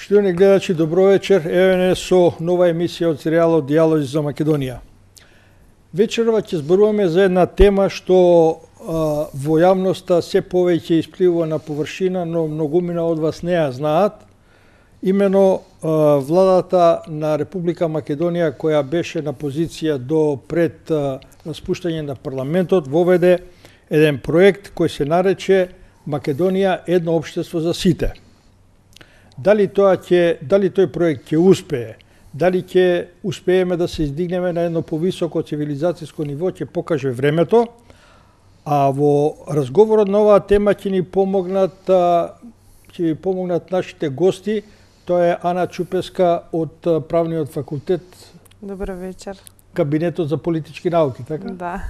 Почитувани гледачи, добро вечер. Еве не со нова емисија од серијалот Дијалози за Македонија. Вечерва ќе зборуваме за една тема што во јавноста се повеќе испливува на површина, но многумина од вас не ја знаат. Имено владата на Република Македонија, која беше на позиција до пред распуштање на парламентот, воведе еден проект кој се нарече Македонија едно општество за сите. Дали тој проект ќе успее, дали ќе успееме да се издигнеме на едно повисоко цивилизацијско ниво, ќе покаже времето, а во разговорот на оваа тема ќе ни помогнат нашите гости. Тоа е Ана Чупеска од Правниот факултет. Добро вечер. Кабинетот за политички науки, така? Да.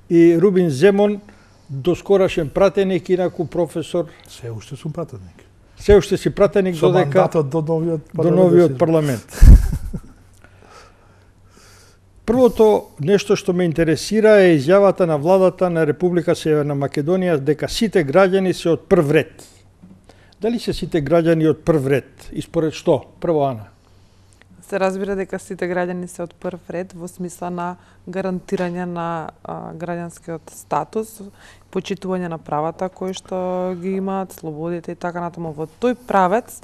И Рубин Земон, доскорашен пратеник, инаку професор. Се уште сум пратеник. Се уште си пратеник со додека мандатот до новиот парламент. Првото нешто што ме интересира е изјавата на владата на Република Северна Македонија дека сите граѓани се од прв ред. Дали се сите граѓани од прв ред? И според што? Прво, Ана. Се разбира дека сите граѓани се од прв ред во смисла на гарантирање на граѓанскиот статус, почитување на правата кои што ги имаат, слободите и така натаму. Во тој правец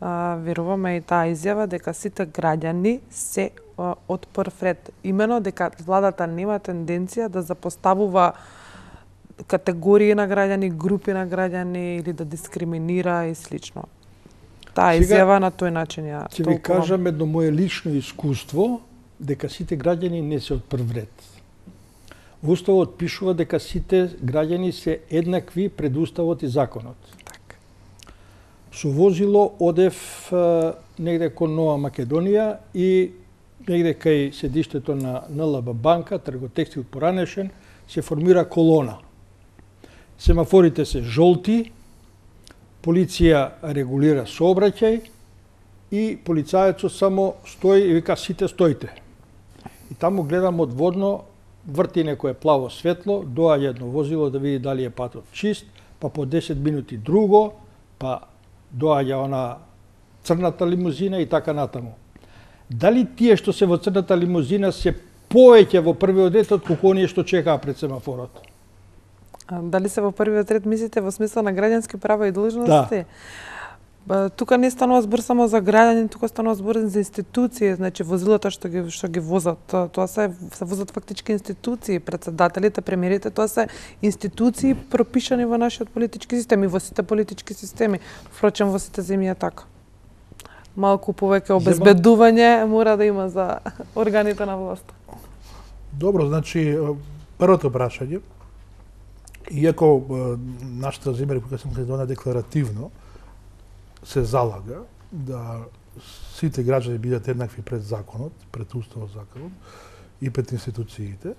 веруваме и таа изјава дека сите граѓани се од прв ред. Имено дека владата нема тенденција да запоставува категории на граѓани, групи на граѓани или да дискриминира и слично. Таа изјава на тој начин ја толкувам. Ќе ви кажам едно мое лично искуство, дека сите граѓани не се од прв ред. Во Уставот пишува дека сите граѓани се еднакви пред Уставот и законот. Так. Со возило одев негде кон Нова Македонија и негде кај седиштето на НЛБ банка, Трготекстил поранешен, се формира колона. Семафорите се жолти, полиција регулира сообраќај и полицајецот само стои и вика сите стоите. И таму гледам одводно, врти некое плаво светло, доаѓа едно возило да види дали е патот чист, па по 10 минути друго, па доаѓа она црната лимузина и така натаму. Дали тие што се во црната лимузина се повеќе во првиот ред од колку оние што чекаа пред семафорот? Дали се во првиот ред мислите во смисла на граѓански права и должности? Да. Тука не станува збор само за граѓани, тука станува збор за институции, значи возилата што ги возат, тоа се возат фактички институции, претседателите, премиерите, тоа се институции пропишани во нашиот политички систем и во сите политички системи. Впрочем, во сите земји е така. Малку повеќе обезбедување мора да има за органите на власт. Добро, значи првото прашање, иако нашата земја Република Македонија декларативно се залага да сите граѓани бидат еднакви пред законот, пред Уставот законот и пред институциите,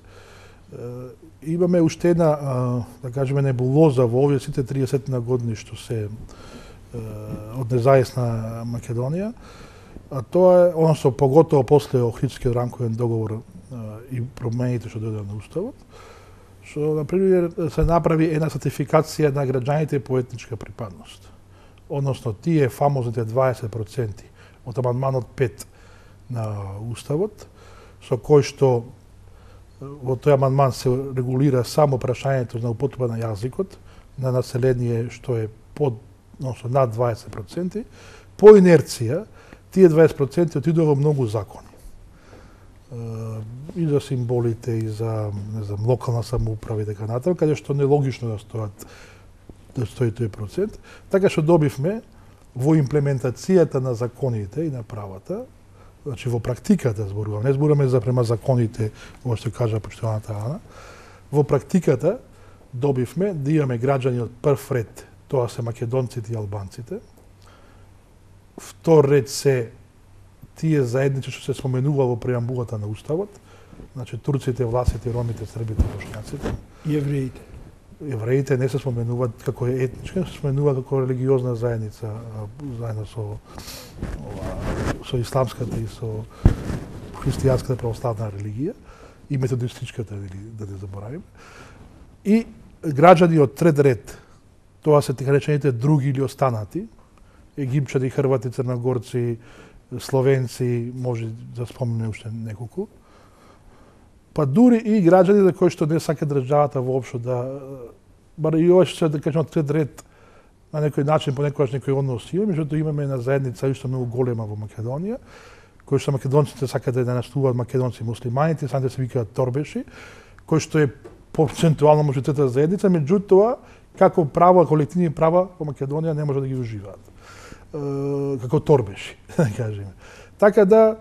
имаме уште една, да кажеме, небулоза во овие сите 30 на години што се од независна Македонија, а тоа е, односно поготово после Охридскиот рамковен договор и промените што дојдоа на Уставот, што, например, се направи една сертификација на граѓаните по етничка припадност. Односно, тие фамозните 20% од амандманот 5 на Уставот, со кој што во тој амандман се регулира само прашањето на употреба на јазикот на население што е односно над 20%, по инерција, тие 20% отидоа во многу закони. И за символите, и за, не знам, локална самоуправа и така натаму, каде што нелогично да стои тој процент. Така што добивме во имплементацијата на законите и на правата, значи во практиката зборувам, не зборуваме за према законите, ова што кажа почитуваната Ана, во практиката добивме да имаме граѓани од прв ред, тоа се македонците и албанците. Втор ред се тие заедници што се споменува во преамбулата на Уставот, значи турците, власите, ромите, србите, бошњаците. И евреите. Евреите не се споменуваат како етничка, се споменува како религиозна заедница, заедно со исламската и со христијанската православна религија и методистичката, да не заборавиме. И граѓани од трет ред, тоа се така речените други или останати, египчани, хрвати, црногорци, словенци, може да спомнеме уште неколку. Па дури и граѓаните кои што не сака државата воопшто да бар и ова што да кажеме трет ред на некој начин понекогаш некој однос има, меѓутоа имаме една заедница уште многу голема во Македонија, кој што македонците сакаат да наштуваат македонци муслиманите, самите се викаат торбеши, кој што е процентуално може трета заедница, меѓутоа како права, колективни права во Македонија не може да ги уживаат. Како торбеши, да кажеме. Така да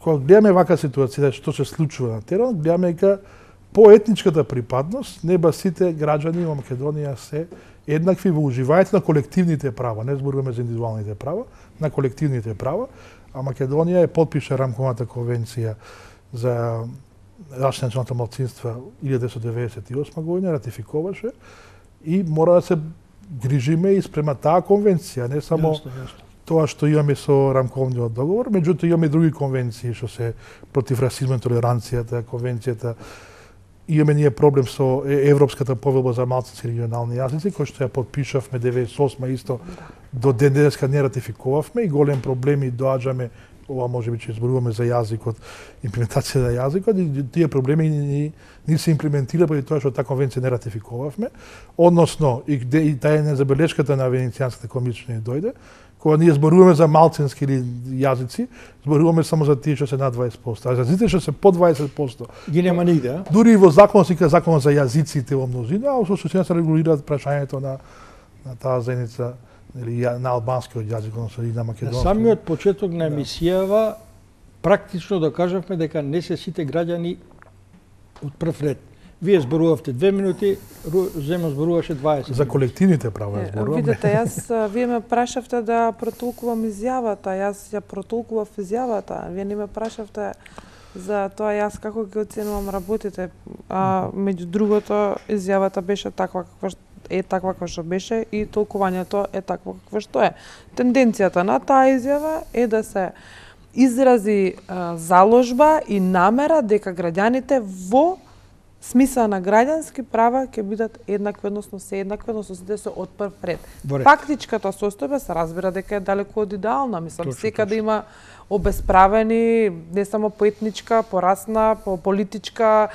кога гледаме вака ситуација што се случува на терен, гледаме дека по етничката припадност не ба сите граѓани во Македонија се еднакви во уживањето на колективните права, не зборуваме за индивидуалните права, на колективните права, а Македонија е потпиша рамковата конвенција за заштита на националните малцинства 1998 година, ратификуваше и мора да се грижиме и спрема таа конвенција, не само тоа што имаме со рамковниот договор, меѓутоа имаме и други конвенции што се против расизмот и толеранцијата, конвенцијата. Имаме ние проблем со Европската повелба за малцински регионални јазици, кој што ја потпишавме 98 исто до ден денеска не ратификувавме и голем проблеми доаѓаме, ова можеби ќе зборуваме за јазикот, имплементација на јазикот, и тие проблеми ни се имплементира поради тоа што таа конвенција не ратификувавме, односно и таа е незабелешката на Венецијанската комисија ни дојде, кога ние зборуваме за малцински или јазици, зборуваме само за тие што се над 20%, а јазиците што се под 20%. Ги нема нигде, а? Дури и во закон се вика закон за јазиците во мнозина, а во суштина се регулираат прашањето на таа заедница или на албанскиот јазик, односно и на македонски. На самиот почеток на емисијава практично докажавме дека не се сите граѓани од прв ред. Вие зборувавте 2 минути, Земо зборуваше 20. За колективните права зборуваме. Видете, вие ме прашавте да протолкувам изјавата, јас ја протолкував изјавата. Вие не ме прашавте за тоа јас како ги оценувам работите. Меѓу другото, изјавата беше таква каква што беше и толкувањето е такво какво што е. Тенденцијата на таа изјава е да се изрази заложба и намера дека граѓаните во смисла на граѓански права ќе бидат еднакви, односно се еднакви, односно сите се од прв ред. Фактичката состојба се разбира дека е далеку од идеална. Мислам, секаде има обесправени, не само по етничка, по расна, по политичка,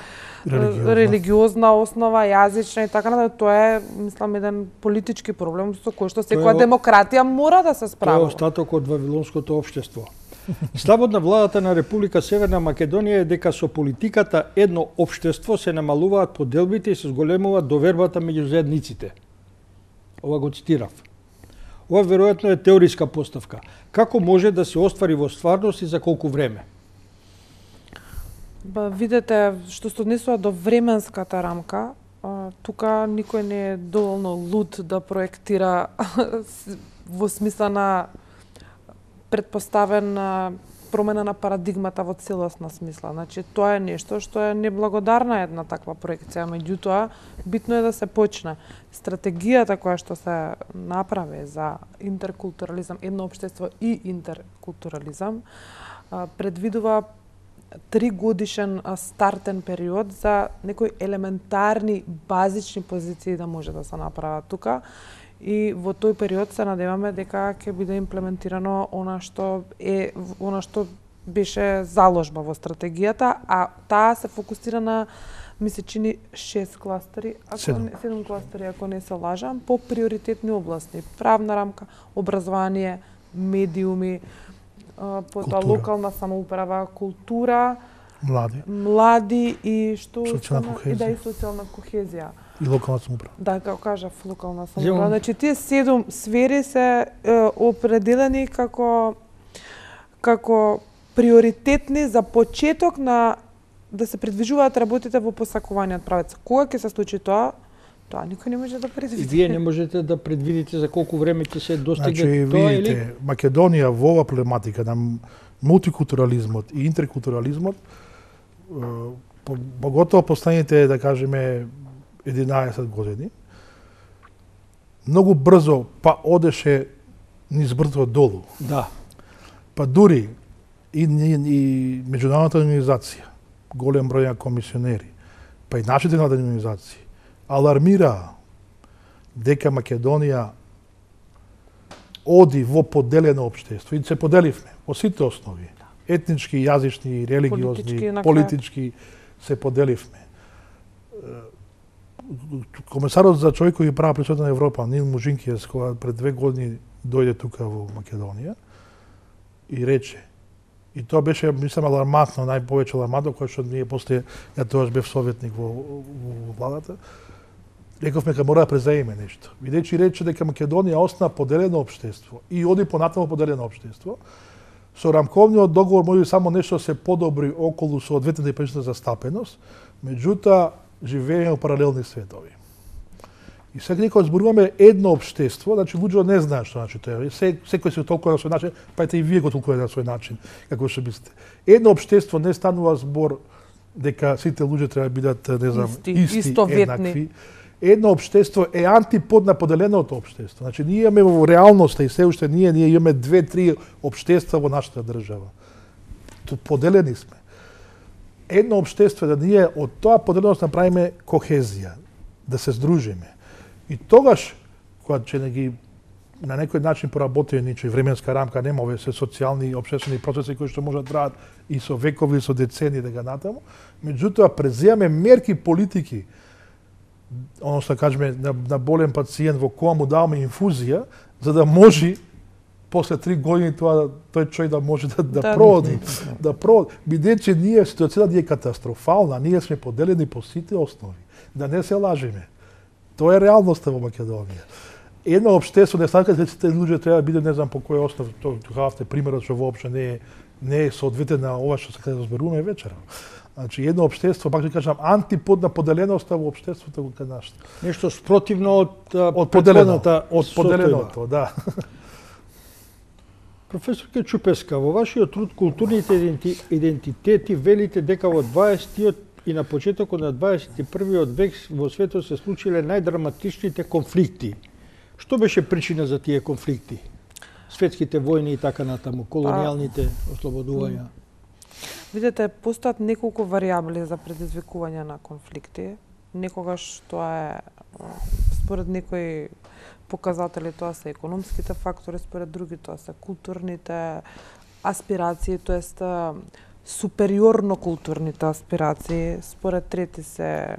религиозна основа, јазична и така натаму. Тоа е, мислам, еден политички проблем со кој што секоја демократија мора да се справи. Тоа е остаток од вавилонското општество. Ставот на владата на Република Северна Македонија е дека со политиката едно општество се намалуваат поделбите и се зголемува довербата меѓу заедниците. Ова го цитирав. Ова веројатно е теориска поставка. Како може да се оствари во стварност и за колку време? Видете, што се однесува до временската рамка, тука никој не е доволно луд да проектира во смисла на предпоставен промена на парадигмата во целосна смисла. Значи, тоа е нешто што е неблагодарна една таква проекција, меѓутоа, битно е да се почне. Стратегијата која што се направи за интеркултурализам, едно општество и интеркултурализам, предвидува 3-годишен стартен период за некои елементарни, базични позиции да може да се направат тука. И во тој период се надеваме дека ќе биде имплементирано она што беше заложба во стратегијата, а таа се фокусира на, ми се чини, 6 кластери, 7 кластери, ако не се лажам, по приоритетни области: правна рамка, образование, медиуми, потоа локална самоуправа, култура, млади и што и социјална кохезија. И локална самоуправа. Да, како кажав, локална самоуправа. Значи, тие 7 сфери се определени како приоритетни за почеток на да се предвижуваат работите во посакуваниот правец. Кога ќе се случи тоа? Тоа никој не може да предвиди. И вие не можете да предвидите за колку време ќе се достигне тоа, видите, или? Македонија во ова проблематика на мултикултурализмот и интеркултурализмот, поготово последните, да кажеме, 11 години, многу брзо па одеше низ брдо долу. Да. Па дури и меѓународната организација, голем број на комисионери, па и нашите национални организации алармираа дека Македонија оди во поделено општество и се поделивме во сите основи, етнички, јазични, религиозни, политички се поделивме. Комесарот за човекови права при Советот на Европа, Нил Мужинкијас, кога пред 2 години дојде тука во Македонија и рече, и тоа беше, мислам, алармантно, најповеќе алармантно, кој што ние после, ја тогаш бев советник во владата, рековме дека мора да преземеме нешто. Бидејќи рече дека Македонија остана поделено општество и оди понатаму поделено општество, со рамковниот договор може само нешто се подобри околу соодветната и причина застапеност, меѓутоа живееме во паралелни светови. И сега кога зборуваме едно општество, значи луѓето не знаат што значи тоа. Секој се толкува на свој начин, па ете и вие го толкувате на свој начин, како што мислите. Едно општество не станува збор дека сите луѓе треба да бидат, не знам, исти, еднакви. Едно општество е антипод на поделеното општество. Значи ние имаме во реалноста и се уште ние имаме 2-3 општества во нашата држава. Поделени сме. Едно општество е да ние од тоа поделеност направиме кохезија, да се здружиме. И тогаш, кога ќе не ги на некој начин поработиме ничој временска рамка, нема овие се социјални и општествени процеси кои што можат да траат и со векови, и со децени дека натаму, меѓутоа преземаме мерки политики, оно што кажеме на болен пациент во која му даваме инфузија, за да може после 3 години тој човек да може да проди, бидејќи ние ситуацијата е катастрофална, ние сме поделени по сите основи, да не се лажеме. Тоа е реалноста во Македонија. Едно општество не сака дека сите луѓе треба да биде не знам по кој основ, тоа примерот што воопшто не е соодветен на ова што сакаме да зборуваме вечера. Значи едно општество, пак ќе кажам, антипод на поделеноста во општеството кај нас. Нешто спротивно од поделеното, да. Професорке Чупеска, во вашиот труд културните идентитети велите дека во 20-тиот и на почетокот на 21-виот век во светот се случиле најдраматичните конфликти. Што беше причина за тие конфликти? Светските војни и така натаму, колонијалните ослободувања. Видете, постојат неколку варијабли за предизвикување на конфликти. Некогаш тоа е, според некои показатели, тоа се економските фактори, според други тоа се културните аспирации, тоест супериорно културните аспирации, според трети се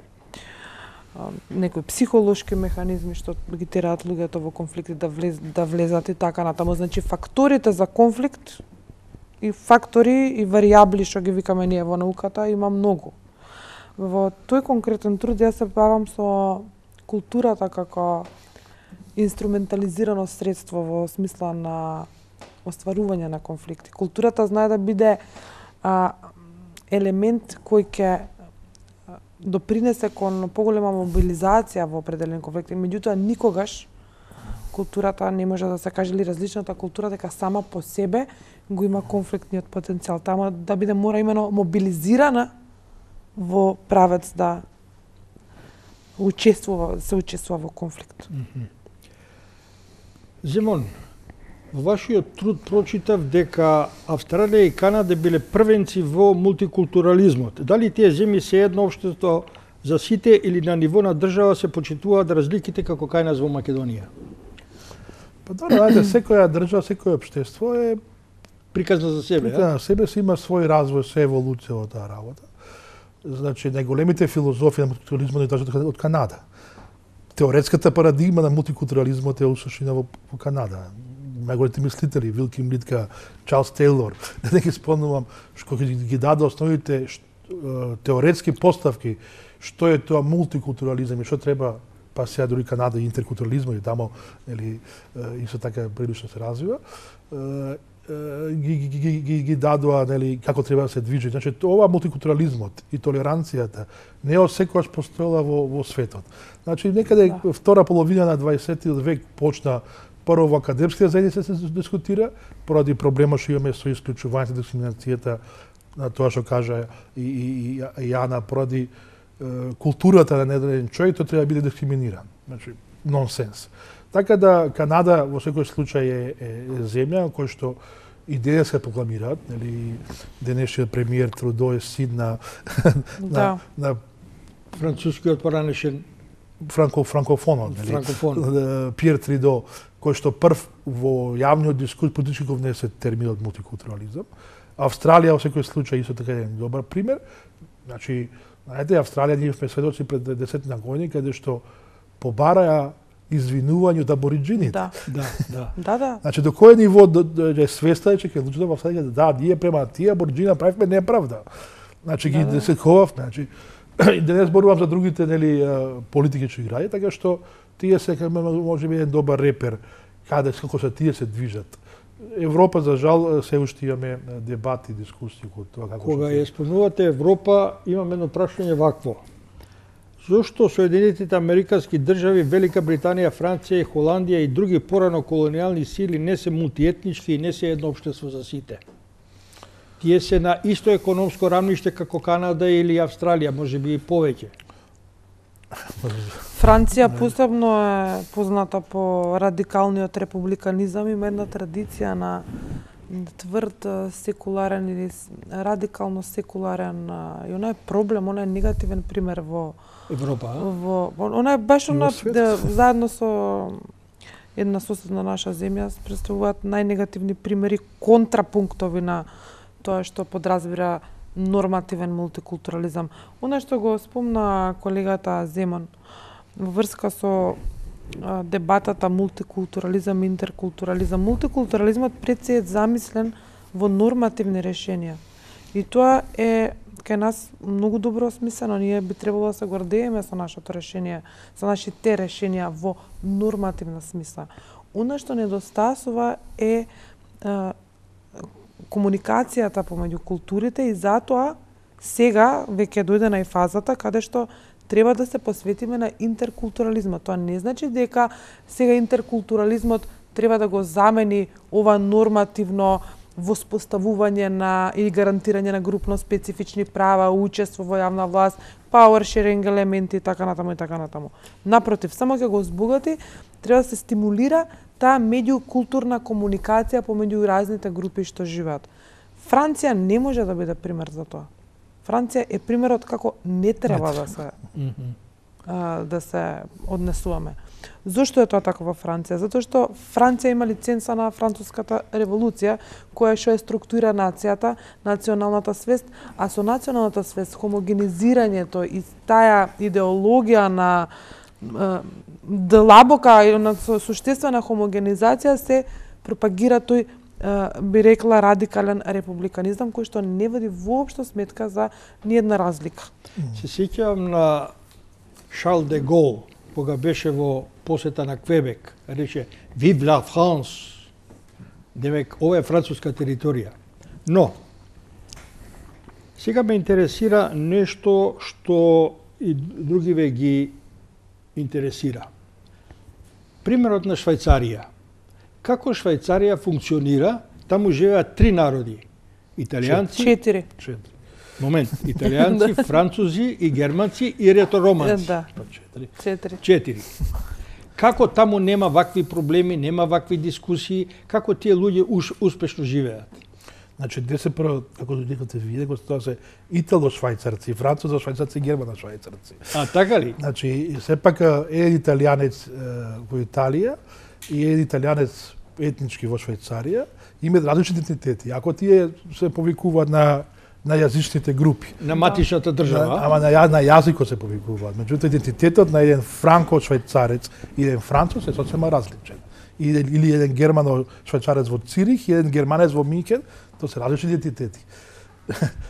некои психолошки механизми што ги тераат луѓето во конфликти да влезат и така натаму. Значи факторите за конфликт и фактори и варијабли што ги викаме ние во науката има многу. Во тој конкретен труд јас се бавам со културата како инструментализирано средство во смисла на остварување на конфликти. Културата знае да биде елемент кој ќе допринесе кон поголема мобилизација во определени конфликти, меѓутоа никогаш културата не може да се каже ли различната култура дека сама по себе го има конфликтниот потенцијал. Тама да биде мора имено мобилизирана во правец да се учествува во конфликт. Зимон, во вашиот труд прочитав дека Австралија и Канада биле првенци во мултикултурализмот. Дали тие земји се едно општество за сите или на ниво на држава се почитуваат разликите како кај нас во Македонија? Па добро, секоја држава, секој општество е приказна за себе, на себе си има свој развој, се еволуција во таа работа. Значи, најголемите филозофии на мултикултурализмот е од Канада. Теоретската парадигма на мултикултурализмот е усушина во Канада. Најголемите мислители, Вилким Литка, Чарлс Тейлор, да не ги спомнувам, што ги даде основните теоретски поставки, што е тоа мултикултурализам и што треба, па сега дури Канада и интеркултурализмот и тамо, нели, исто така прилично се развива, ги дадоа, нели, како треба да се движи. Значи, ова мултикултурализмот и толеранцијата не секогаш постоела во светот. Значи, некаде втора половина на 20 век почна прво во академските заедници се дискутира, поради проблемот што имаме со исклучувањето, дискриминацијата, на тоа што кажа и Јана, поради културата на недаден човек, тој треба да биде дискриминиран. Значи, нонсенс. Така да Канада во секој случај е земја која што и денес се прокламираат, нели, денешниот премиер Трудо е син на францускиот поранешен франкофонот, Пиер Тридо, кој што прв во јавниот дискурс политички го внесе терминот мултикултурализам. Австралија во секој случај исто така е добар пример. Значи, знаете, Австралија ние сме сведоци пред 10 години каде што побараја извинување од абориджините. Да. Значи, до кој ниво е свеста че ќе луѓето во Австралија да ние према тие абориджина правиме неправда. Значи ги десетковавме, значи и да не зборувам за другите политики што играат, така што тие се можеби еден добар репер каде како се тие се движат. Европа за жал се уште имаме дебати, дискусии кога тоа како кога ја спомнувате Европа, имам едно прашање вакво. Зошто Соединетите Американски држави, Велика Британија, Франција и Холандија и други порано колонијални сили не се мултиетнички и не се едно општество за сите? Тие се на исто економско рамниште како Канада или Австралија, можеби и повеќе. Франција посебно е позната по радикалниот републиканизам, има една традиција на тврд секуларен или радикално секуларен и она е проблем, она е негативен пример во Европа. Она е баш заедно со една соседна наша земја представуваат најнегативни примери, контрапунктови на тоа што подразбира нормативен мултикултурализам. Она што го спомна колегата Земон во врска со дебатата мултикултурализам, интеркултурализам. Мултикултурализмот пред се е замислен во нормативни решенија. И тоа е кај нас многу добро осмислено. Ние би требало да се гордееме со нашето решение, со нашите решенија во нормативна смисла. Она што недостасува е комуникацијата помеѓу културите и затоа сега веќе дојде на фазата каде што треба да се посветиме на интеркултурализмот. Тоа не значи дека сега интеркултурализмот треба да го замени ова нормативно воспоставување на или гарантирање на групно специфични права, учество во јавна власт, power sharing елементи и така натаму и така натаму. Напротив, само ќе го збогати, треба да се стимулира таа меѓукултурна комуникација помеѓу разните групи што живеат. Франција не може да биде пример за тоа. Франција е примерот како не треба да се однесуваме. Зошто е тоа така во Франција? Затоа што Франција има лиценца на француската револуција, која што е структура нацијата, националната свест, а со националната свест, хомогенизирањето и таа идеологија на длабока и на суштествена хомогенизација се пропагира тој би рекла радикален републиканизам кој што не води воопшто сметка за ниедна разлика. Се сеќавам на Шарл де Гол, кога беше во посета на Квебек, рече Vive la France. Демек, ова е француска територија. Но, сега ме интересира нешто што и другиве ги интересира. Примерот на Швајцарија. Како Швајцарија функционира, таму живеат 3 народи. Италијанци... 4. Момент. Италијанци, французи и германци и ретороманци. Да. 4. Како таму нема вакви проблеми, нема вакви дискусии, како тие луѓе успешно живеат? Значи, ДСПР, како декате виде, тоа се итало-швајцарци, французо-швајцарци, германо-швајцарци. А, така ли? Значи, сепак еден италијанец во Италија и еден италијанец етнички во Швајцарија имаат различни идентитети. Ако тие се повикуваат на јазичните групи. На матичната држава? Ама на јазикот се повикуваат. Меѓутоа, идентитетот на еден франко-швајцарец и еден француз е сосема различен. Или еден германо-швајцарец во Цирих и еден германец во Минхен, тоа се различни идентитети.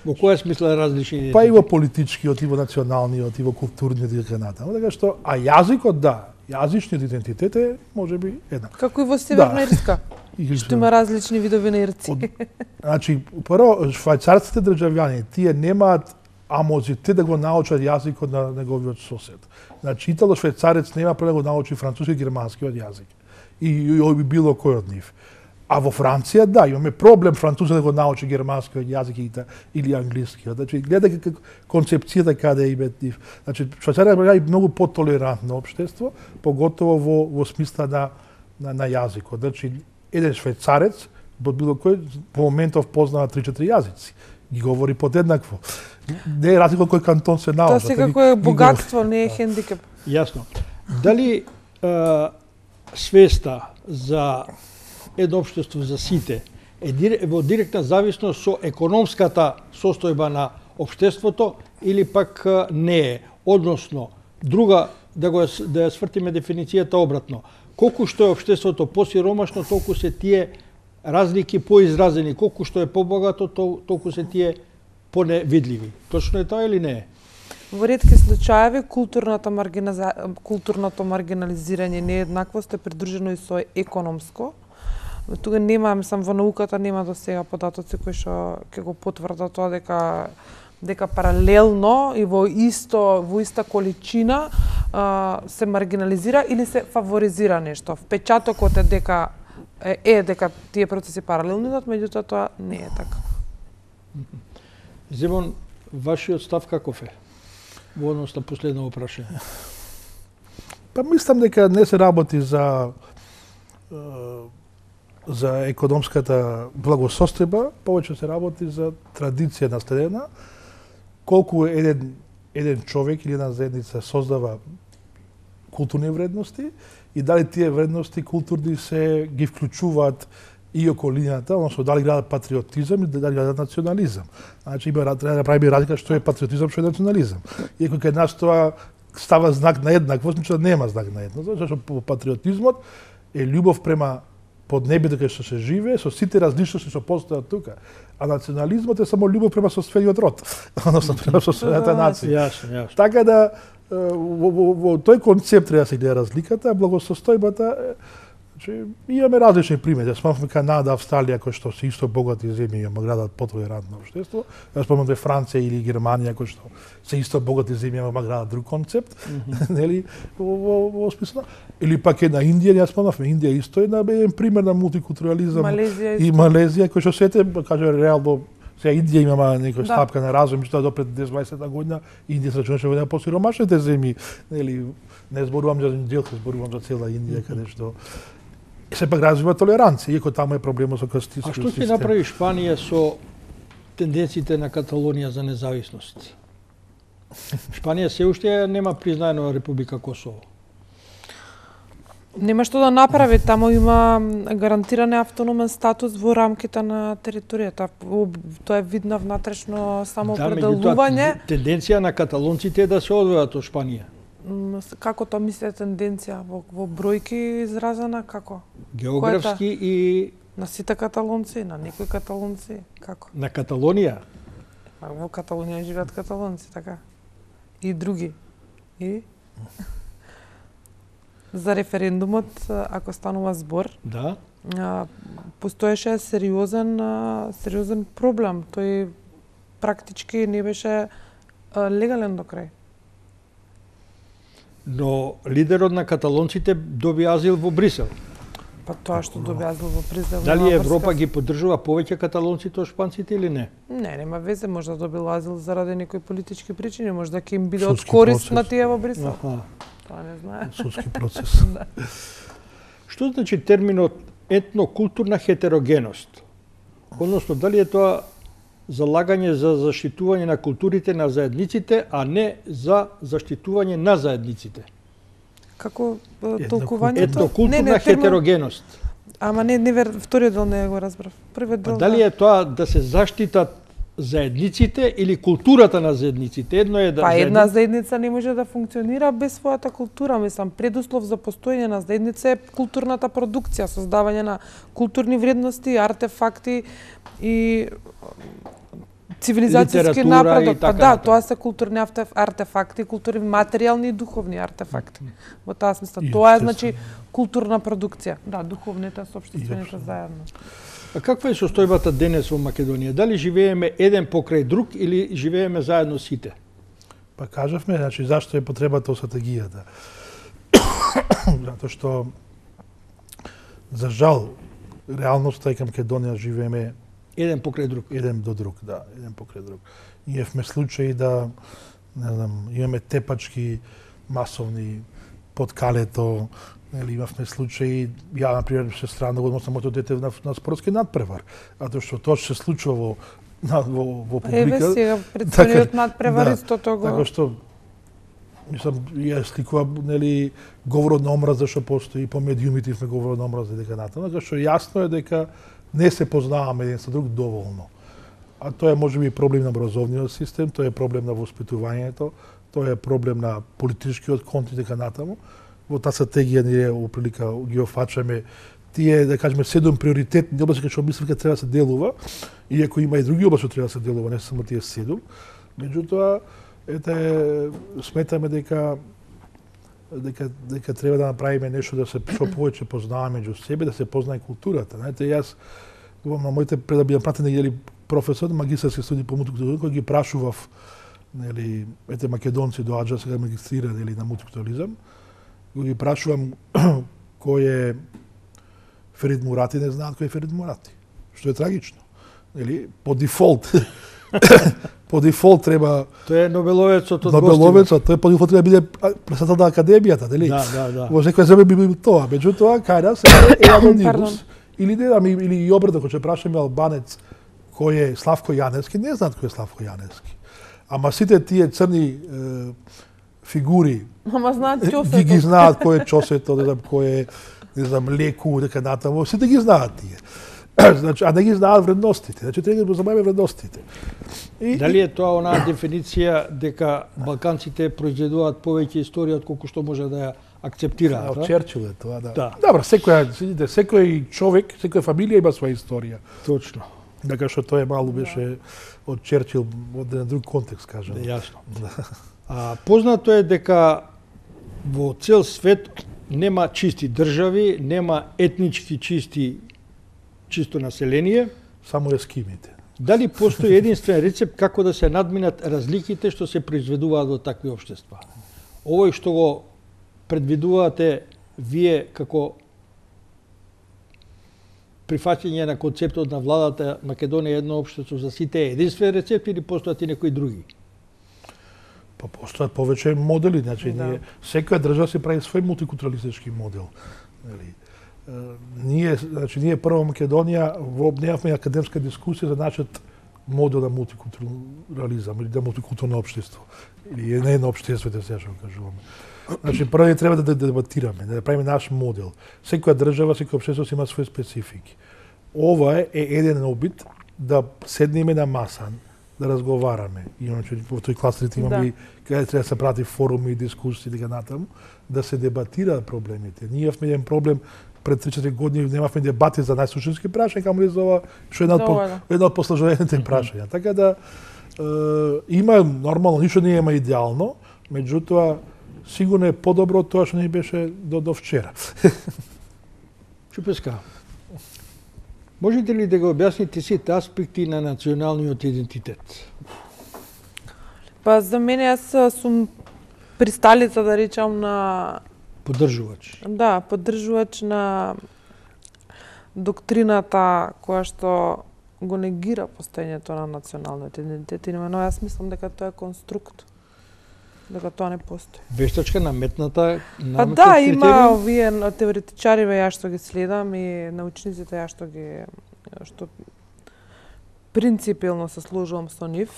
Во која смисла различни идентитети? Па и во политичкиот, и во националниот, и во културниот и така натаму. Така што, а јазикот да, јазичниот идентитет е можеби еднак. Како и во Северна Ирска. Што има различни видови на ирци. Значи, прво, швајцарците државјани, тие немаат амозитет да го научат јазикот на неговиот сосед. Значи, итало-швајцарец нема проблем да го научи француски и германскиот јазик. И било кој од нив. А во Франција, да, имаме проблем французот да го научи германскиот јазик или англискиот. Значи, гледа концепцијата каде има нив. Значи, Швајцарија е многу потолерантно општество, поготово во смисла на јазикот. Значи, еден швајцарец, било кој, по моментов познава 3-4 јазици. Ги говори подеднакво. Не е разлика кој кантон се научи. Тоа секако е богатство, не е хендикеп. Јасно. Дали свеста за едно општество за сите е во директна зависност со економската состојба на општеството или пак не е? Односно, друга, да ја свртиме дефиницијата обратно. Колку што е општеството посиромашно, толку се тие разлики поизразени. Колку што е побогато, толку се тие поневидливи. Точно е тоа или не е? Во ретки случаеви културното маргинализирање нееднаквост е придружено и со економско. Тука нема, мислам, во науката нема до сега податоци кои што ќе го потврдат тоа дека паралелно и во иста количина се маргинализира или се фаворизира нешто. Впечатокот е дека тие процеси паралелни, меѓутоа тоа не е така. Земон, вашиот став каков е во однос на последно прашање? Па мислам дека не се работи за економската благосостојба, повеќе се работи за традиција наследена, колку еден човек или една заедница создава културни вредности и дали тие вредности културни се ги вклучуваат и околината, односно дали градат патриотизам и дали градат национализам. Значи треба да правиме разлика што е патриотизам, што е национализам. Иако кај нас тоа става знак на еднаквост, значи нема знак на еднаквост, зашто патриотизмот е љубов према поднебието кај што се живее, со сите различности што постојат тука. А национализмот е само љубов према соствениот род, односно према соствената нација. Јасно. Така да во тој концепт треба да се гледа разликата, а благосостојбата, значи имаме различни примери. Ја спомнам Канада, Австралија кои што се исто богати земји, ама градат потолерантно општество. Ја спомнам Франција или Германија кои што се исто богати земји, ама градат друг концепт, нели во смисла. Или пак една Индија, ја спомнавме Индија исто е еден пример на мултикултурализам и Малезија кој што сете, каже реално сега Индија имама некоја стапка на разум, што до пред 10-20 година Индија се рачунаше во една посиромашните земји, нели не зборувам за Индија, зборувам за цела Индија каде што сепак развива толеранција, иако таму е проблемот со кастистичкиот систем. А што ќе направи Шпанија со тенденциите на Каталонија за независност? Шпанија се уште нема признаено Република Косово. Нема што да направи, таму има гарантиран автономен статус во рамките на територијата. Тоа е видно внатрешно самоопределување. Тенденција на каталонците е да се одвојат од Шпанија. Како тоа мислите тенденција? Во бројки изразена, како? Географски и... На сите каталонци, на некои каталонци, како? На Каталонија? Во Каталонија живеат каталонци, така. И други. И? За референдумот, ако станува збор, да, постоеше сериозен проблем. Тој практички не беше легален до крај. Но лидерот на каталонците доби азил во Брисел. Па тоа што доби азил во Брисел... Дали Европа ги поддржува повеќе каталонците од шпанците или не? Не, нема везе, може да добил азил заради некои политички причини, може да ќе им биде од корист на тие во Брисел. Тоа не знае. Судски процес. Што значи терминот етнокултурна хетерогеност? Односно, дали е тоа залагање за заштитување на културите на заедниците, а не за заштитување на заедниците? Како толкувањето? Етнокултурна хетерогеност. Ама не, вториот дел не го разбрав. Првиот дел. Дали е тоа да се заштитат заедниците или културата на заедниците? Едно е да Па една заедница не може да функционира без својата култура, мислам, предуслов за постоење на заедница е културната продукција, создавање на културни вредности, артефакти и цивилизацијски напредок. Па да, тоа се културни артефакти, културни материјални и духовни артефакти. Во таа смисла, тоа е значи културна продукција. Да, духовните со општествените заедно. А каква е состојбата денес во Македонија? Дали живееме еден покрај друг или живееме заедно сите? Па кажавме, значи зашто е потребата од стратегијата. Затоа што за жал реалноста е кај Македонија живееме еден покрај друг. Еден до друг, да, еден покрај друг. Имавме случаи да, не знам, имаме тепачки масовни под калето, или имавме случаи, ја, например, се странно го односно моето дете на спортски надпревар, а тоа што тоа се случува во публика. Еве сега, предстојниот надпревар истото го... Така што мислам, ја сликува, нели, говорот на омраза што постои по медиумите на говорот на омраза дека натаму, така што јасно е дека не се познаваме еден со друг доволно. А тоа е можеби проблем на образовниот систем, тоа е проблем на воспитувањето, тоа е проблем на политичкиот контекст дека натаму. Во таа стратегија ние во прилика ги офачаме тие, да кажеме, 7 приоритетни области кај што мислам дека треба да се делува, иако има и други области што треба да се делува, не само тие 7. Меѓутоа, сметаме дека треба да направиме нешто да се што повеќе познаваме меѓу себе, да се познае културата. Знаете, јас на моите пред да бидам пратен или професор на магистарски студии по мултикултурализам, кој ги прашував, нели, македонци доаѓа сега магистрира или на мултикултурализам, ги прашувам кој е Ферид Мурати, не знаат кој е Ферид Мурати, што е трагично. Нели, по дефолт по дефолт треба Тој е Нобеловецот од Нобеловецот, тој по дефолт треба да биде председател на академијата, нели? Да. Во секоја земја би било тоа, меѓутоа кај нас е анонимус. Или и обрдо, кога ќе прашаме албанец кој е Славко Јаневски, не знаат кој е Славко Јаневски. Ама сите тие црни фигури знаат Ќосето. Ги знаат кој е Ќосето, не знам кој е, не знам, Леку, дека натаму, сите ги знаат тие. Значи, а не ги знаат вредностите. Значи, треба да позабавиме вредностите. Дали е тоа онаа дефиниција дека балканците произведуваат повеќе историја од колку што може да ја акцептираат? Черчил е тоа, да. Да. Добро, секој човек, секоја фамилија има своја историја. Точно. Дека што тоа малу беше од Черчил, од еден друг контекст, кажам. Јасно. Познато е дека во цел свет нема чисти држави, нема етнички чисто население. Само ескимите. Дали постои единствен рецепт како да се надминат разликите што се произведуваат во такви општества? Овој што го предвидувате вие како прифаќање на концептот на владата Македонија едно општество за сите е единствен рецепт или постојат и некои други? Па постојат повеќе модели, значи секоја држава се прави свој мултикултуралистички модел. Ние прво Македонија немавме академска дискусија за нашиот модел на мултикултурализам или да мултикултурно општество. Или не едно општество, да се што кажуваме. Значи прво треба да дебатираме, да правиме наш модел. Секоја држава, секој општество има свои специфики. Ова е еден обид да седнеме на маса, да разговараме. Иначе во тој кластерите имаме каде треба да се прати форуми, дискусии дека натаму, да се дебатираат проблемите. Ние имавме еден проблем пред 3-4 години, немавме дебати за најсушински прашања, камо ли за ова што е една од посложнените прашања. Така да има нормално, ништо не има идеално, меѓутоа сигурно е подобро од тоа што не беше до вчера. Чупеска, можете ли да го објасните сите аспекти на националниот идентитет? Па за мене јас сум присталица, да речам, на поддржувач. Да, поддржувач на доктрината која што го негира постоењето на националниот идентитет. Именно јас мислам дека тоа е конструкт. Дека тоа не постои. Вештачка наметната на Па да, има овие теоретичариве ја што ги следам и научниците ја што принципилно се сложувам со нив.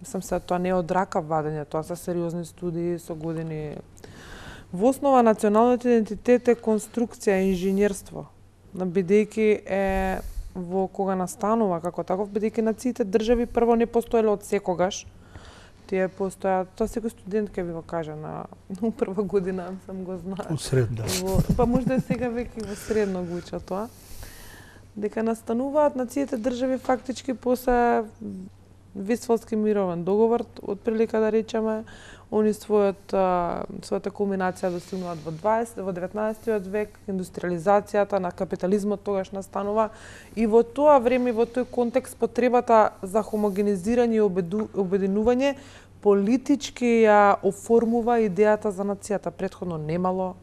Мислам се тоа не е од рака вадење, тоа се сериозни студии со години. Во основа националниот идентитет е конструкција, инженерство, бидејќи е во кога настанува како таков, бидејќи нациите држави прво не постоеле од секогаш. Тие постојат, тоа секој студент ќе ви го каже на прва година, сам го знае. Од средно. Па можда сега веќе во средно го учат тоа. Дека настануваат нациите држави фактички после Вестфалски мировен договор, од прилика да речеме, они својата кулминација достигнуваат во 19 век, индустриализацијата на капитализмот тогаш настанува и во тоа време, во тој контекст, потребата за хомогенизирање и обединување политички ја оформува идејата за нацијата. Претходно немало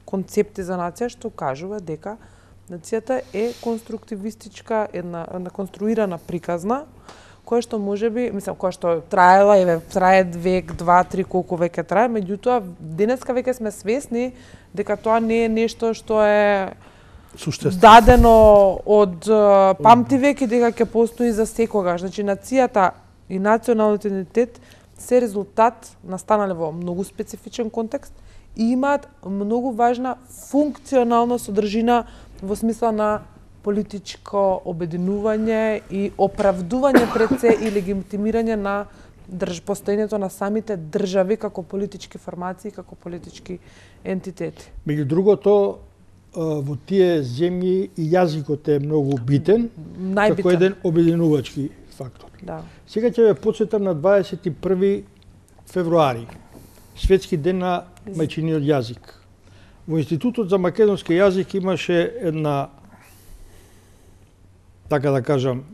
концепти за нација, што кажува дека нацијата е конструктивистичка, една конструирана приказна, која што можеби, мислам, која што трае век, 2-3, колку веќе трае, меѓутоа денеска веќе сме свесни дека тоа не е нешто што е дадено од памти век и дека ќе постои за секогаш. Значи нацијата и националниот идентитет се резултат настанале во многу специфичен контекст и имаат многу важна функционална содржина во смисла на политичко обединување и оправдување пред се и легитимирање на постоењето на самите држави како политички формации, како политички ентитети. Меѓу другото, во тие земји и јазикот е многу битен, како еден обединувачки фактор. Да. Сега ќе ве потсетам на 21 февруари, Светски ден на мајчиниот јазик. Во Институтот за македонски јазик имаше една, така да кажам,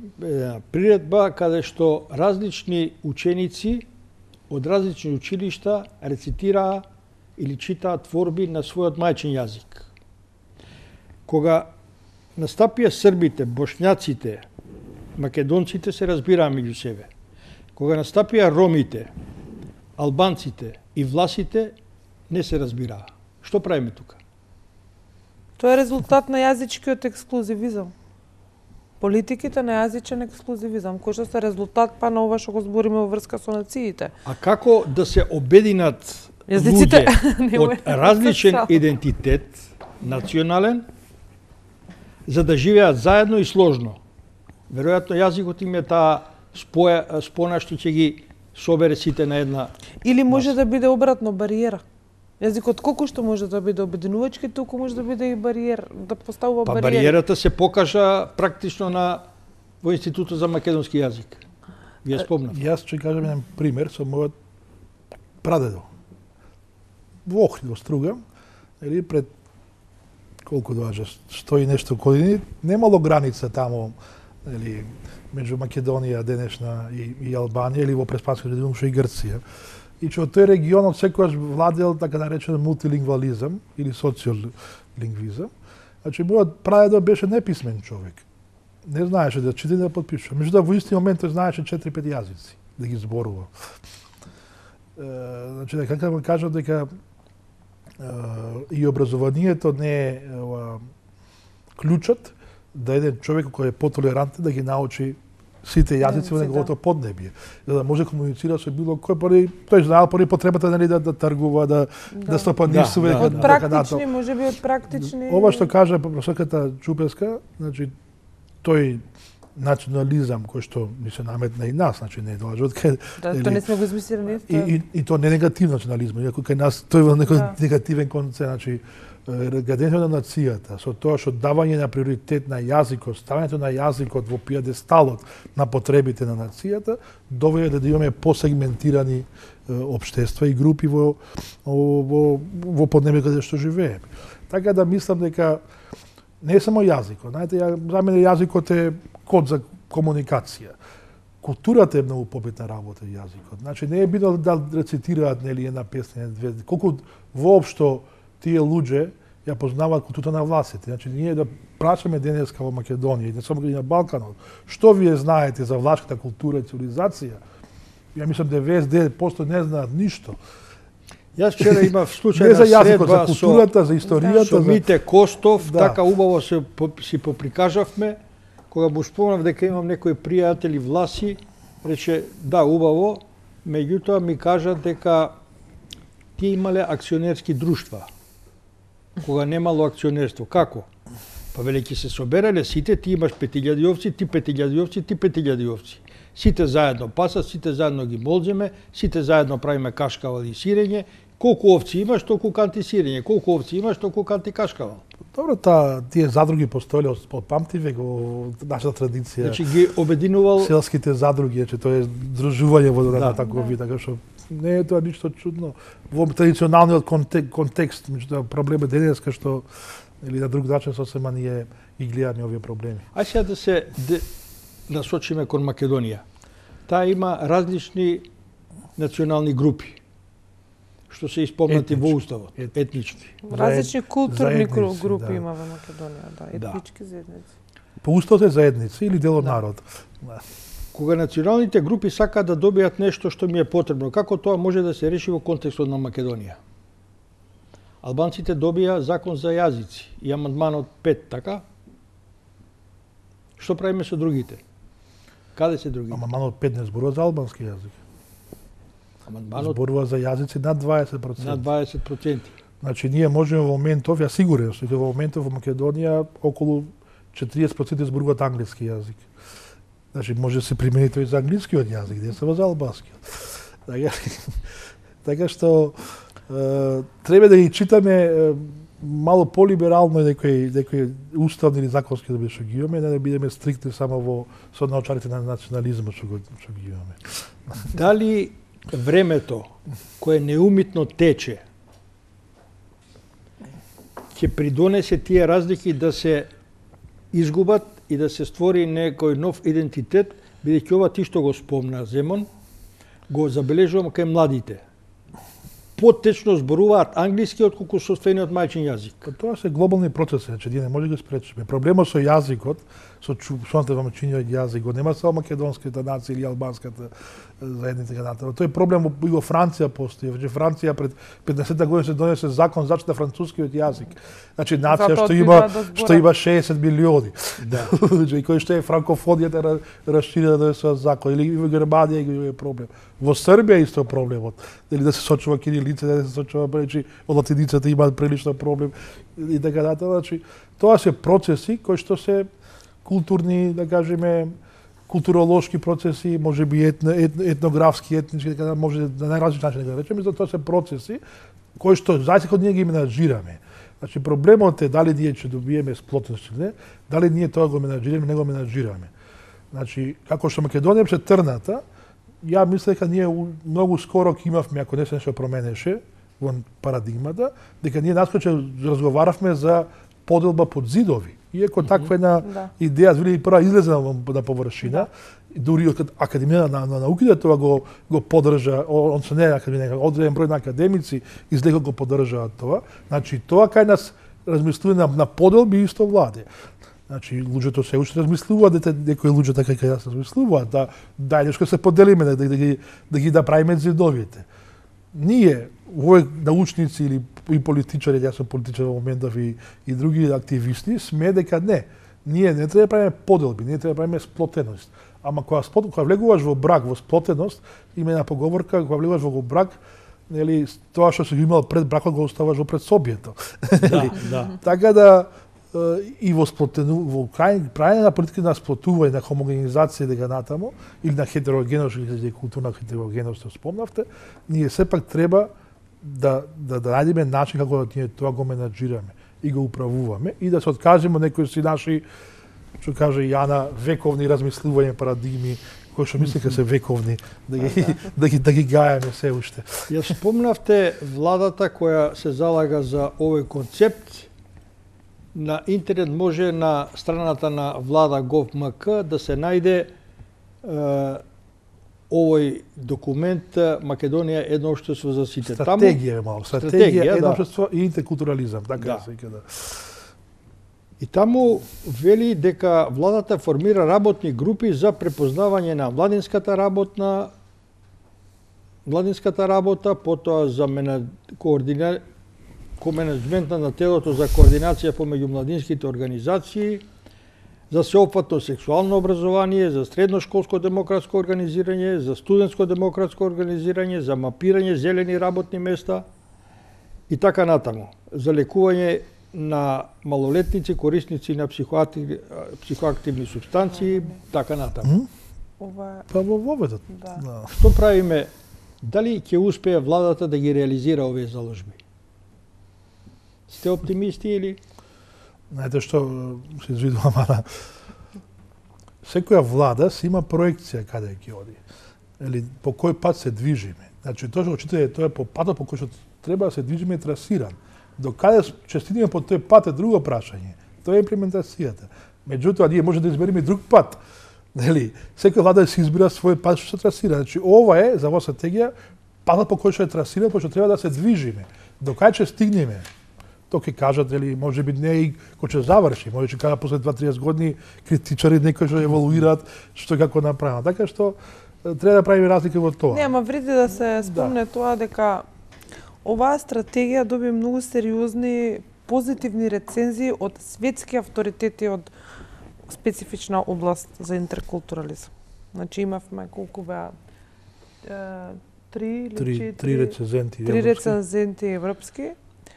приредба каде што различни ученици од различни училишта рецитираа или читаа творби на својот мајчин јазик. Кога настапија србите, бошњаците, македонците се разбираа меѓу себе. Кога настапија ромите, албанците и власите, не се разбираа. Што правиме тука? Тоа е резултат на јазичкиот ексклузивизам. Политиките на јазичен ексклузивизам, кој што се резултат па на ова што го збориме во врска со нациите. А како да се обединат луѓе од различен идентитет, национален, за да живеат заедно и сложно? Веројатно јазикот им е таа спона што ќе ги собере сите на една. Или може да биде обратно бариера. Јазикот колку што може да биде обединувачки, толку може да биде и бариер, да поставува бариери. Па бариерата се покажа практично во Институтот за македонски јазик. Вие спомнав. Јас ќе кажам еден пример со мојот прадедо. Во Охрид, во Струга, или пред колку доаѓа 100 и нешто години, немало граница таму, или меѓу Македонија денешна и Албанија, или во преспанскиот регион што и Грција. И че од тој регионот секогаш владел така наречен мултилингвализам или социолингвизам. Значи мојот прадедо беше неписмен човек. Не знаеше да чита и да подпишува. Меѓутоа во исти момент тој знаеше 4-5 јазици да ги зборува. Значи дека му кажам дека и образованието не е клучот да еден човек кој е потолерантен да ги научи сите јазици во неговото поднебје, за да може комуницира со било кој, тој знаел поради потребата да тргува, да стопанисува. Од практични, можеби од практични. Ова што кажа професорката Чупеска, значи тој национализам кој што ни се наметна и нас, значи не доаѓа од кај. Да, тоа не сме го измислили ние. И тоа не е негативен национализам, иако кај нас тој во некој негативен концепт, значи градењето на нацијата, со тоа што давање на приоритет на јазикот, ставањето на јазикот во пиедесталот на потребите на нацијата, доведе да имаме посегментирани општества и групи во поднебје каде што живееме. Така да мислам дека не е само јазикот. Знаете, за мене јазикот е код за комуникација. Културата е многу побитна работа јазикот. Значи не е битно да рецитираат нели една песна, две, колку воопшто тие луѓе ја познаваат културата на властите. Значи ние да прашаме денеска во Македонија и не само на Балканот, што вие знаете за влашката култура и цивилизација? Ја мислам 99% не знаат ништо. Јас вчера имав случај не за на јазикот, средба за културата, за историјата, со Мите Костов, да. Така убаво си поприкажавме, кога му спомнав дека имам некои пријатели власи, рече да, убаво, меѓутоа ми кажа дека тие имале акционерски друштва. Кога немало акционерство, како? Па велики се соберале сите, ти имаш 5000 овци, ти 5000 овци, ти 5000 овци. Сите заедно пасат, сите заедно ги молземе, сите заедно правиме кашкавал и сирење. Колку овци имаш, толку канти сирење. Колку овци имаш, толку канти кашкавал. Добро, тие задруги постоеле од памтивек во нашата традиција. Значи ги обединувал селските задруги, че тоа е здружување во таков вид, така што не е тоа ништо чудно. Во традиционалниот контекст, меѓутоа проблемот денеска што или на друг начин сосема ние ги гледаме овие проблеми. Ај сега да се насочиме кон Македонија. Таа има различни национални групи што се испомнати во уставот, етнички. Различни културни групи да. има во Македонија, да, етнички заедници. По уставот е заедници или дел од народ. Да. Кога националните групи сакаат да добијат нешто што ми е потребно, како тоа може да се реши во контекстот на Македонија? Албанците добија закон за јазици и амандманот 5, така? Што правиме со другите? Каде се другите? Амандманот 5 не зборува за албански јазик. Амандманот зборува за јазици над 20%. на 20%. Значи, ние можеме во моментов, ја сигурен сум, во моментов во Македонија околу 40% зборуваат англиски јазик. Значи, може да се примени тој за англискиот јазик, не само за албанскиот. Така што треба да ги читаме мало полиберално некои уставни или законски да што ги имаме, не да бидеме стриктни само во со научарите на национализмот што ги имаме. Дали времето кое неумитно тече ќе придонесе тие разлики да се изгубат и да се створи некој нов идентитет, бидејќи ова ти што го спомна Земон, го забележувам кај младите. Потечно зборуваат англиски отколку сопствениот мајчин јазик. Па тоа се глобални процеси, значи ние не може да ги спречиме. Проблемот со јазикот, со чувството во мајчиниот јазик, го нема само македонската нација или албанската заедница натаму. Тој проблем и во Франција постои. Значи Франција пред 50 години се донесе закон за заштита францускиот јазик. Значи нација што има 60 милиони. Да. Значи кој што е франкофонијата расширена да се закон или во Германија има проблем. Во Србија исто проблемот. Дали да се сочува кирилица, да се сочува речи од латиницата има прилично проблем и така натаму. Значи тоа се процеси кои што се културни, да кажеме, културолошки процеси, може би етнографски, етнички, така може на најразлични начини да речеме, за тоа се процеси кои што зајсек од ние ги менаџираме. Значи проблемот е дали ние ќе добиеме сплотеност или не, дали ние тоа го менаџираме, не го менаџираме. Значи како што Македонија се трната, ја мислам дека ние многу скоро ќе имавме, ако не се нешто променеше во парадигмата, дека ние наскоче разговаравме за поделба под зидови. Иако таква една идеја вели прва излезе на површина, дури од Академија на науките тоа го поддржа, он се не е академија, одреден број на академици излеко го поддржаат тоа. Значи тоа кај нас размислување на поделби исто владе. Значи луѓето се уште размислуваат дека некои луѓе така кај нас размислуваат, да нешто се поделиме, да ги правиме зидовите. Ние, овој научници или и политичари, јас сум политичар во моментов и други активисти, сме дека не. Ние не треба да правиме поделби, ние треба да правиме сплотеност. Ама кога влегуваш во брак, во сплотеност, има една поговорка, кога влегуваш во брак, нели, тоа што си имал пред бракот го оставаш во предсобието. Да. Така да и во правење на политика на сплотување, на хомогенизација дека натаму, или на хетерогеност, или културна хетерогеност, што спомнавте, ние сепак треба да најдеме начин како да ние тоа го менаџираме и го управуваме и да се откажеме од некои си наши, што каже Јана, вековни размислувања, парадигми, кои што мислеме се вековни, да ги гајаме се уште. Ја спомнавте владата која се залага за овој концепт. На интернет може на страната на влада gov.mk да се најде овој документ Македонија едно општество за сите. Стратегија е мало. Стратегија едно општество и интеркултурализам, така се вика. И таму вели дека владата формира работни групи за препознавање на младинската работа, потоа за коменеджмента на телото за координација помеѓу младинските организации, за сеопфатно сексуално образование, за средношколско демократско организирање, за студентско демократско организирање, за мапирање зелени работни места и така натаму, за лекување на малолетници, корисници на психоактивни супстанции, така натаму. Па во воведот. Што правиме? Дали ќе успее владата да ги реализира овие заложби? Сте оптимисти или? Знаете што се извидувам, ама секоја влада си има проекција каде ќе оди. Или по кој пат се движиме. Значи тоа што читате, тоа е по патот по кој што треба да се движиме трасиран. До каде ќе стигнеме по тој пат е друго прашање. Тоа е имплементацијата. Меѓутоа ние може да избереме друг пат. Нели? Секоја влада си избира свој пат што се трасира. Значи ова е за оваа стратегија патот по кој што е трасиран, по што треба да се движиме. До каде ќе стигнеме? Тоа ќе кажат, или може би не и кој ќе заврши, може ќе кажат после 2-30 години критичари некои што еволуираат што како направено. Така што треба да правиме разлика во тоа. Не, ама вреди да се спомне тоа дека оваа стратегија доби многу сериозни позитивни рецензии од светски авторитети од специфична област за интеркултурализам. Значи имавме колку беа 3 или 4. Три рецензенти Три европски. рецензенти европски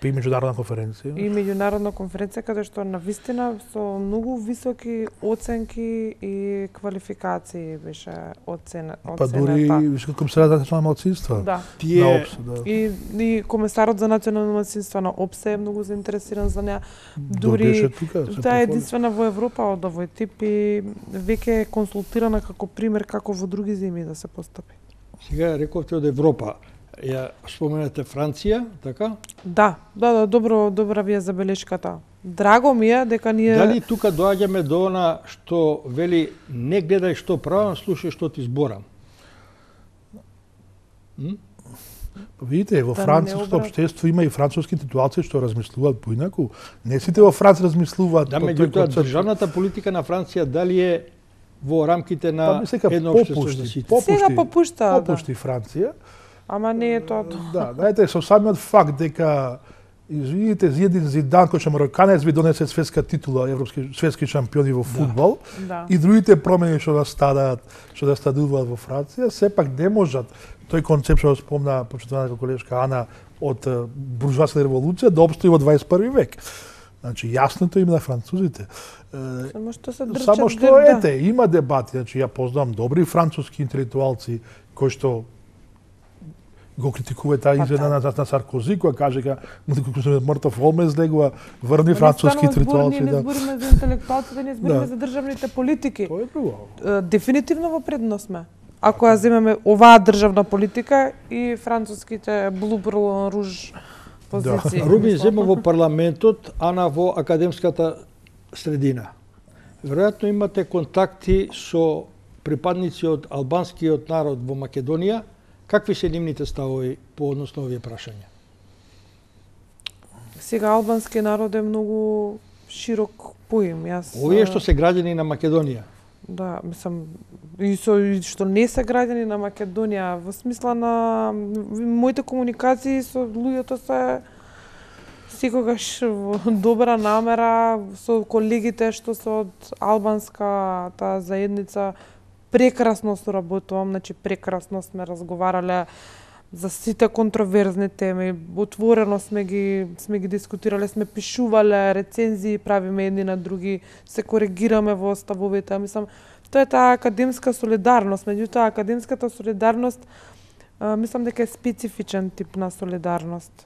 И меѓународна конференција. и меѓународна конференција каде што навистина со многу високи оценки и квалификации беше оценета. Па дури вишка комесарот за национални малцинства. Да. На ОПС, да. И комесарот за национално малцинство на ОПСЕ е многу заинтересиран за неа. Дури беше тука. се Таа е похвали. единствена во Европа од овој тип и веќе е консултирана како пример како во други земји да се постапи. Сега рековте од Европа. Ја споменате Франција, така? Да, добра ви е забелешката. Драго ми е дека ние Дали тука доаѓаме до она што вели не гледај што правам, слушај што ти зборам? Видите, во Да не француското обрат. општество има и француски интелектуалци што размислуваат поинаку. Не сите во Франција размислуваат Да, по тој меѓутоа концепт. државната политика на Франција дали е во рамките Па, на ми сега едно општество за попушти, сите? сега попушта, попушти Франција. ама не е тоа. Да, знаете, со самиот факт дека извините, Зиедин Зидан, кој што мароканец би донесе светска титула, светски шампиони во фудбал, Да. и другите промени што настадуваат во Франција, сепак не можат тој концепт што спомна почитуваната колешка Ана од буржуазската револуција да опстои во 21 век. Значи, јасното им на французите. Само што се дрчат. Само што ете, има дебати, значи ја познавам добри француски интелектуалци кои што го критикува таа изјава на Саркози, која каже дека мртов Олме излегува, врни француски интелектуалци. Ние не збориме за интелектуалците, ние збориме Да. за државните политики. Тоа е друго. Дефинитивно во предност сме. Ако ја земеме оваа државна политика и француските блу руж позиции. Рубин зема во парламентот, Ана во академската средина. Веројатно имате контакти со припадници од албанскиот народ во Македонија. Какви се нивните ставови по однос на овие прашања? Сега албански народ е многу широк поим. Овие што се граѓани на Македонија. Да, мислам, и што не се граѓани на Македонија, во смисла на моите комуникации со луѓето се секогаш во добра намера, со колегите што се од албанската заедница, прекрасно соработувам, значи прекрасно сме разговарале за сите контроверзни теми, отворено сме ги дискутирале, сме пишувале рецензии, правиме едни на други, се коригираме во ставовите. Мислам, тоа е таа академска солидарност, меѓутоа академската солидарност мислам дека е специфичен тип на солидарност.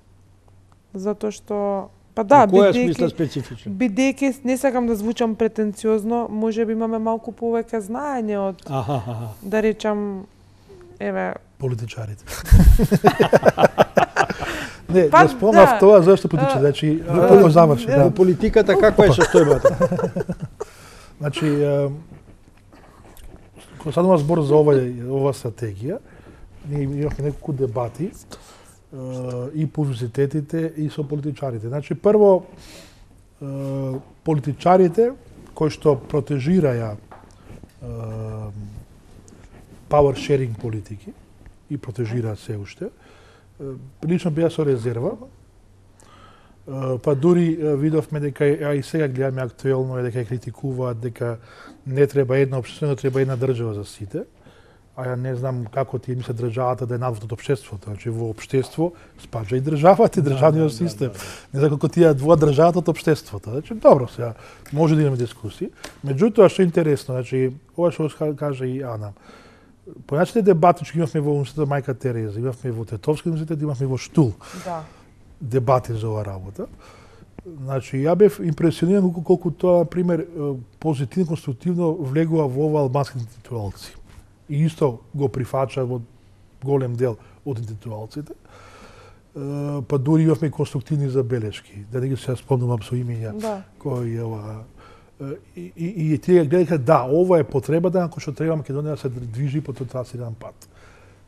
Затоа што па да, Која смисла специфичен? бидејќи не сакам да звучам претенциозно, можеби имаме малку повеќе знаење од да речам еве Политичарите. Не, Па, да спомнав да. тоа зашто политичари, значи го заврши, Во да. политиката каква е состојбата? Значи кога станува збор за ова стратегија, ние имавме неколку дебати и по универзитетите и со политичарите. Значи прво политичарите кои што протежираја power sharing политики и протежира се уште. Лично беа со резерва. Па дури видовме дека и сега гледаме актуелно дека критикуваат дека не треба една општество, треба една држава за сите. А ја не знам како ти мислат државата да е надвор од општеството. Значи во општество спаѓа и државата и државниот систем. Не знам како тие двоа државата од општеството. Значи добро сега може да имаме дискусии. Меѓутоа што е интересно, значи ова што каже и Ана. Поначите дебати што имавме во универзитетот Мајка Тереза, имавме во Тетовски универзитет, имавме во Штул. Да. Дебати за оваа работа. Значи, ја бев импресиониран колку тоа, например, позитивно, конструктивно влегува во ова албански интелектуалци. И исто го прифача во голем дел од интелектуалците. Па дури имавме конструктивни забелешки, да не ги се спомнувам со имења Да. кои ова и тие гледаха да, ова е потребата ако што треба Македонија да се движи по тој трасиран пат.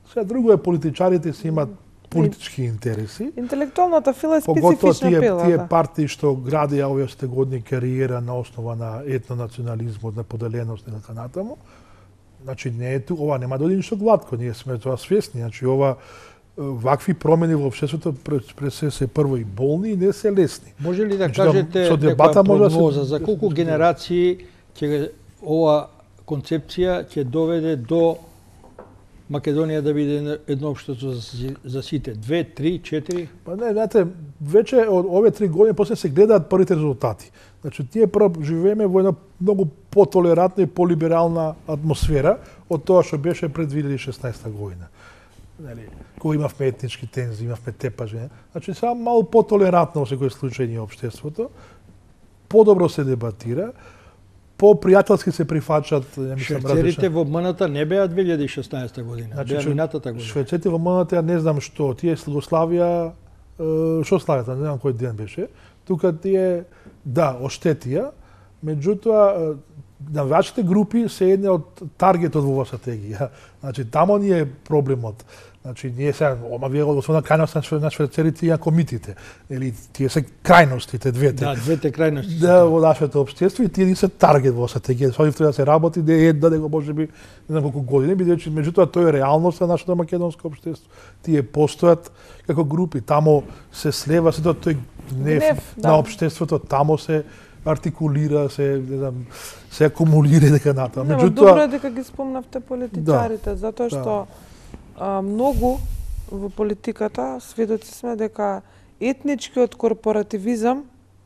Сега друго е политичарите си имаат политички интереси. Интелектуалната фила е Поготоа специфична фила. тие Да. партии што градија овие стегодни кариера на основа на етнонационализмот, на поделеност и така натаму. Значи не е ова нема да оди ништо гладко, ние сме тоа свесни. Значи ова вакви промени во општеството пред се прво и болни и не се лесни. Може ли да Значи, кажете со дебата некоја може да се- прогноза за колку генерации ќе ова концепција ќе доведе до Македонија да биде едно општество за сите? 2, 3, 4? Па не, знаете, веќе од овие 3 години после се гледаат првите резултати. Значи, тие прво живееме во една многу потолерантна и полиберална атмосфера од тоа што беше пред 2016 година. Нели, кога имавме етнички тензии, имавме тепажи, значи само малку потолерантно во секој случај ни општеството, подобро се дебатира, по-пријателски се прифаќаат, швејцарите во МНТ не беа 2016 година, значи, беа минатата година. Швејцарите во МНТ ја не знам што, тие го славија, што славјат, не знам кој ден беше. Тука тие, да, оштетија, меѓутоа навијачите групи се една од таргетот во оваа стратегија. Значи, тамо ни е проблемот. Значи, ние сега, вие основна крајност на швејцарите и комитите. Или тие се крајностите, двете. Да, двете крајности. Да, во нашето општество и тие не се таргет во стратегија. Со нив треба да се работи, да е да го можеби не знам колку години, бидејќи меѓутоа тоа е реалност на нашето македонско општество. Тие постојат како групи, тамо се слева сето тој гнев на општеството, тамо се артикулира, се, не знам, се акумулира и дека натаму. Меѓутоа, добро е дека ги спомнавте политичарите, затоа што многу во политиката сведоци сме дека етничкиот корпоративизам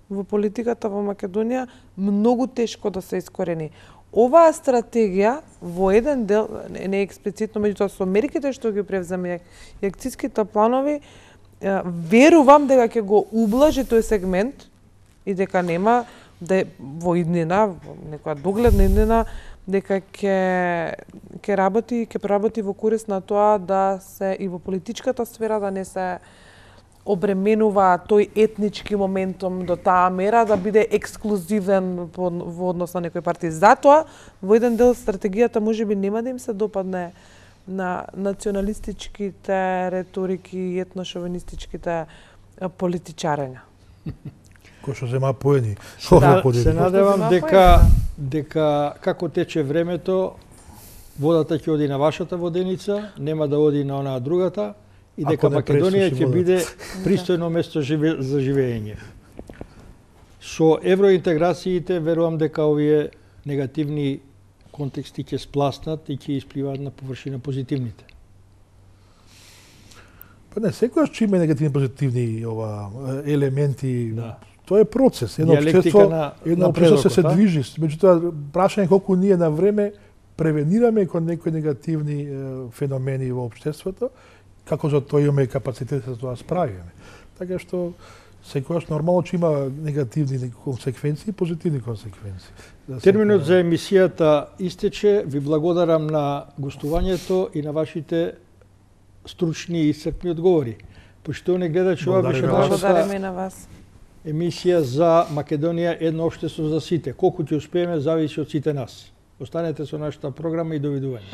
во политиката во Македонија многу тешко да се искорени. Оваа стратегија во еден дел, не експлицитно, меѓутоа со мерките што ги превземе и акцијските планови, верувам дека ќе го ублажи тој сегмент и дека нема да во иднина, во некоја догледна иднина, дека ќе работи во корист на тоа да се и во политичката сфера да не се обременува тој етнички моментум до таа мера да биде ексклузивен во однос на некои партии. Затоа во еден дел стратегијата можеби нема да им се допадне на националистичките реторики и етношовинистичките политичарења. Кој што зема поени. Се надевам дека како тече времето, водата ќе оди на вашата воденица, нема да оди на онаа другата, и дека Македонија ќе биде пристојно место за живење. Со евроинтеграциите верувам дека овие негативни контексти ќе спласнат и ќе испливаат на површина позитивните. Па не, секојаш ќе има негативни позитивни елементи. Да. Тоа е процес, едно општество се движи, меѓутоа прашање колку ние на време превенираме кон некои негативни феномени во општеството, како за тоа имаме капацитет за тоа справиме. Така што секојаш нормално ќе има негативни консеквенции и позитивни консеквенции. Терминот за емисијата истече. Ви благодарам на гостувањето и на вашите стручни и исцрпни одговори. Поштовани гледачи, ова беше нашата емисија за Македонија, едно општество за сите. Колку ќе успееме зависи од сите нас. Останете со нашата програма и довидување.